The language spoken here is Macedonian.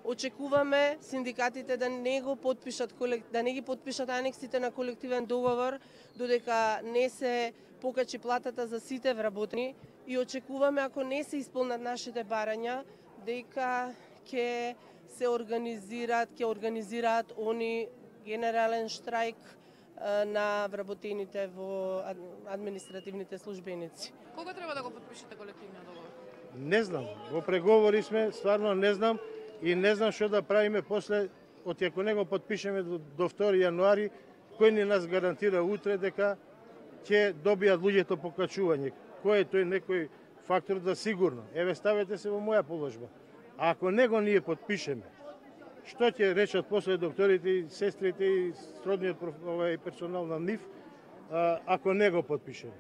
Очекуваме синдикатите да не ги потпишат анексите на колективен договор додека не се покачи платата за сите вработени и очекуваме ако не се исполнат нашите барања дека ќе организираат они генерален штрајк на вработените во административните службеници. Кога треба да го потпишете колективниот договор? Не знам, во преговори сме, стварно не знам и не знам што да правиме после, ако не го потпишеме до 2 јануари, кој ни нас гарантира утре дека ќе добијат луѓето покачување? Кој е тој некој фактор да сигурно? Еве ставете се во моја положба. А ако не го ние потпишеме, што ќе речат после докторите и сестрите и сродниот персонал на НИФ, ако не го потпишеме?